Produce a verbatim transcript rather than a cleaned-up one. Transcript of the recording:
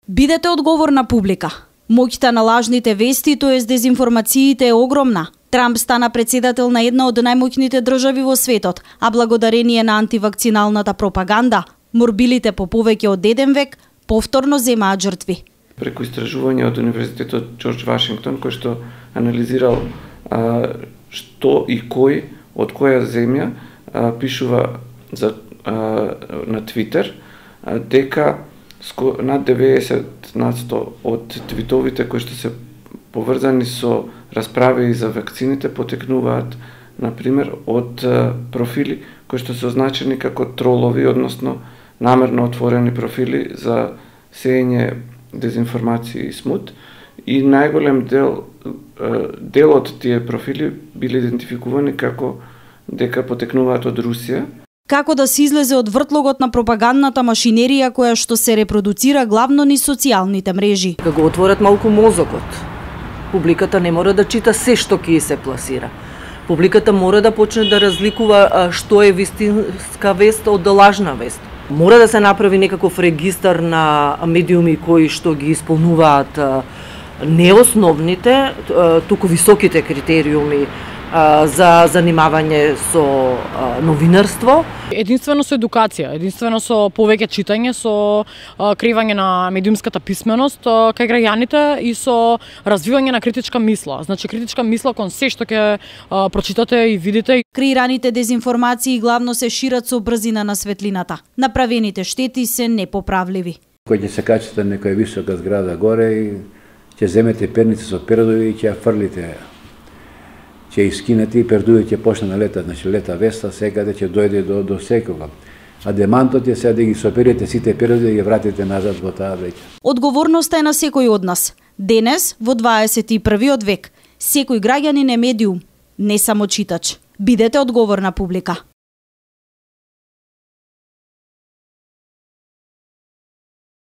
Бидете одговорна публика. Моќта на лажните вести, тоест дезинформациите, е огромна. Трамп стана председател на една од најмоќните држави во светот, а благодарение на антивакциналната пропаганда, морбилите по повеќе од еден век повторно земаат жртви. Преку истражување од Универзитетот Џорџ Вашингтон, кој што анализирал а, што и кој од која земја а, пишува за, а, на Твитер, а, дека над деветдесет на сто од твитовите кои што се поврзани со расправи за вакцините потекнуваат, например, од профили кои што се означени како тролови, односно намерно отворени профили за сеење дезинформации и смут, и најголем дел дел од тие профили били идентификувани како дека потекнуваат од Русија. Како да се излезе од вртлогот на пропагандната машинерија која што се репродуцира главно низ социјалните мрежи? Кога го отворат малку мозокот, публиката не мора да чита се што ќе се пласира. Публиката мора да почне да разликува што е вистинска вест од лажна вест. Мора да се направи некаков регистар на медиуми кои што ги исполнуваат не основните, туку високите критериуми за занимавање со новинарство. Единствено со едукација, единствено со повеќе читање, со креирање на медиумската писменост кај граѓаните и со развивање на критичка мисла. Значи критичка мисла кон се што ќе прочитате и видите. Креираните дезинформации главно се шират со брзина на светлината. Направените штети се непоправливи. Кој ќе се качите на некоја висока зграда горе и ќе земете перници со пердови и ќе ја фрлите. Ќе искинете и пердуите ќе почне да летат, значи лета веста секаде ќе дојде до, до секога. А демантот е сега да ги соперите сите пердови да ги вратите назад во таа веќе. Одговорноста е на секој од нас. Денес, во дваесет и првиот век, секој граѓанин е медиум, не само читач. Бидете одговорна публика.